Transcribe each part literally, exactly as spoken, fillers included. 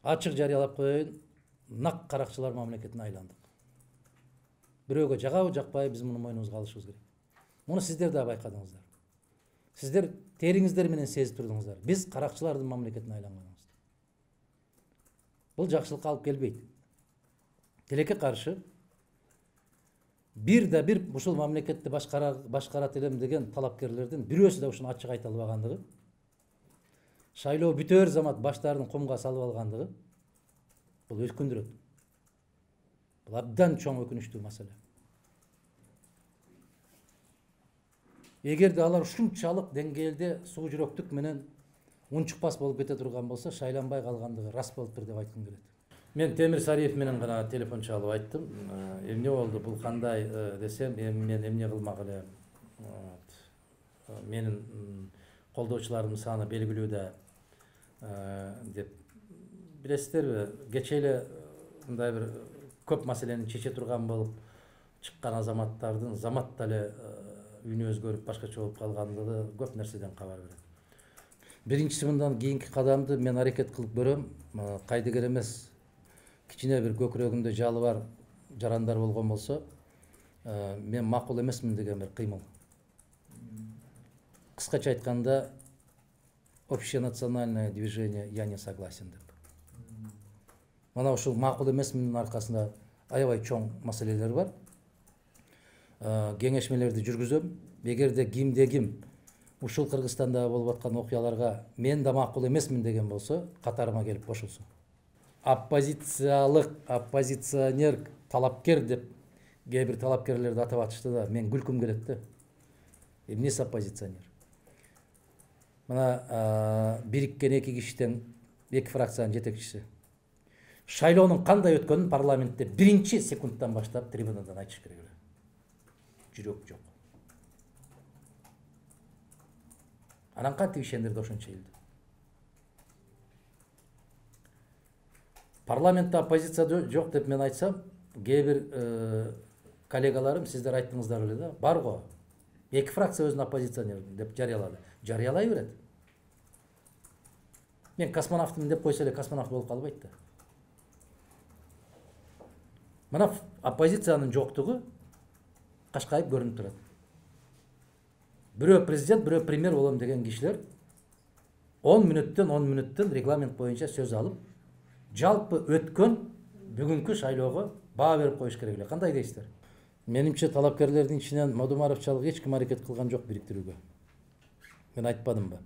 Ачык жарыялап коеюн, нак каракчылар мамлекетине айландык. Бирөөгө жагабы жакпайбы, биз муну мойнубузга алышыбыз керек. Муну сиздер да байкадыңыздар. Сиздер териңиздер менен сезип турдуңуздар. Биз каракчылардын мамлекетине айланганбыз. Бул жакшылыкка алып келбейт. Тилекке каршы бир да бир ушул мамлекетти башкарат элем деген талапкерлердин бирөөсү да ушуну ачык айта албагандыгы, шайлоо бүтөр замат баштарын комго салып алгандыгы бул өкүндүрөт. Бул абдан чоң өкүнүчтүү маселе. Эгерде алар ушунчалык деңгээлде суу жүрөктүк менен унчукпас болуп кете турган болсо, шайланбай калгандыгы рас болуптур деп айткым келет. Мен Темир Сариев менен гана телефон чалып айттым. Эмне болду, бул кандай десем, эми мен эмне кылмак элем. Менин колдоочуларымдын саны белгилүү да деп. Билесиздерби, кечээ эле мындай бир көп маселени чече турган болуп чыккан азаматтардын заматта эле үнү өзгөрүп башкача болуп калгандыгы көп нерседен кабар берет. Биринчиси, мындан кийинки кадамды мен аракет кылып көрөм. Кайдыгер эмес, кичине бир көкүрөгүндө жалы бар жарандар болгон болсо, мен макул эмесмин деген бир кыймыл. Кыскача айтканда, общенациональное движение «Я не согласен» деп. Мана ушул макул эмесминдин аркасында аябай чоң маселелер бар. Кеңешмелерди жүргүзөм. Эгерде кимде ким ушул Кыргызстанда болуп аткан окуяларга мен да макул эмесмин деген болсо, катарыма келип кошулсун. Оппозициялык, оппозиционер, талапкер деп кээ бир талапкерлерди атап атышты да, мен күлкүм келет да. Эмнеси оппозиционер? Мына бириккен эки кишиден эки фракциянын жетекчиси шайлоонун кандай өткөнүн парламентте биринчи секундтан баштап трибунадан айтыш керек эле. Жүрөк жок. Анан кантип ишендирди ошончо элди? Парламентте оппозиция жок деп мен айтсам, кээ бир коллегаларым, сиздер айттыңыздар эле да, бар го. Эки фракция өзүн оппозиционер деп жарыялады. Жарыялай берет. Мен космонавтмын деп койсо эле космонавт болуп калбайт да. Мына оппозициянын жоктугу кашкайып көрүнүп турат. Бирөө президент, бирөө премьер болом деген кишилер он мүнөттөн он мүнөттөн регламент боюнча сөз алып, жалпы өткөн бүгүнкү шайлоого баа берип коюш керек эле. Кандай дейсиздер? Менимче талапкерлердин ичинен Мадумаровчалык эч ким аракет кылган жок бириктирүүгө. Мен айтпадымбы?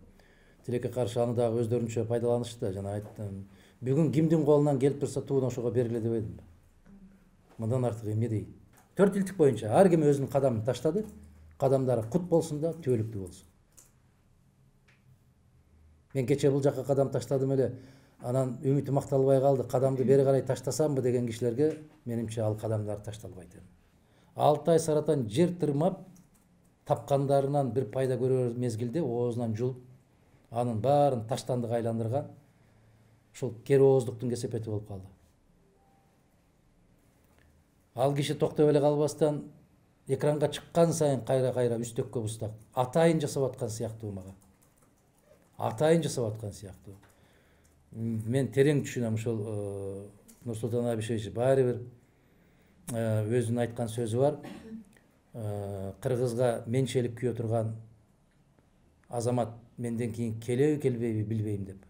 Тилекке каршы аны дагы өздөрүнчө пайдаланышты. Жана айттым, бүгүн кимдин колунан келип турса тууну ошого бергиле дебедимби? Мындан артык эмне дейт? Төрт илтик боюнча ар ким өзүнүн кадамын таштады. Кадамдары кут болсун да, түбөлүктүү болсун. Мен кечээ бул жакка кадам таштадым эле, анан үмүтүм акталбай калды. Кадамды бери карай таштасамбы деген кишилерге менимче ал кадамдар ташталбайт эми. Алты ай саратан жер тырмап, тапкандарынан бир пайда көрөр мезгилде оозунан жулуп, анын баарын таштандыга айландырган ушул кер ооздуктун кесепети болуп калды. Ал киши токтой эле калбастан экранга чыккан сайын кайра-кайра үстөккө бустак атайын жасап аткан сыяктуу мага. Атайын жасап аткан сыяктуу. Мен терең түшүнөм, ушул Нурсултан Абишевич баары бир өзүнүн айткан сөзү бар. Кыргызга менчелик күйө турган азамат менден кийин келеби келбейби билбейм деп.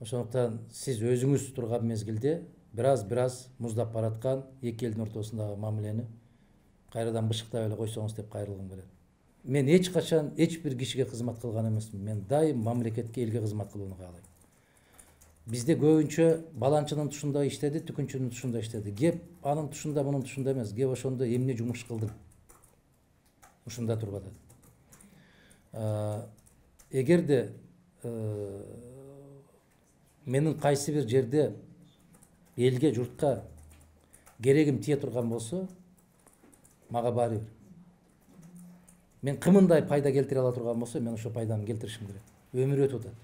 Ошондуктан сиз өзүңүз турган мезгилде бираз-бираз муздап бараткан эки элдин ортосундагы мамилени кайрадан бышыктап эле койсоңуз деп кайрылгым келет. Мен эч качан эч бир кишиге кызмат кылган эмесмин. Мен дайым мамлекетке, элге кызмат кылууну каалайм. Бизде көбүнчө баланчынын тушунда иштеди, түкүнчүнүн тушунда иштеди. Кеп анын тушунда, мунун тушунда эмес. Кеп ошондо эмне жумуш кылдым? Ушунда туруп атат. Эгерде менин кайсы бир жерде элге, журтка керегим тие турган болсо, мага баары бир. Мен кымындай пайда келтире ала турган болсо, мен ошо пайданы келтиришим керек. Өмүр өтүп атат.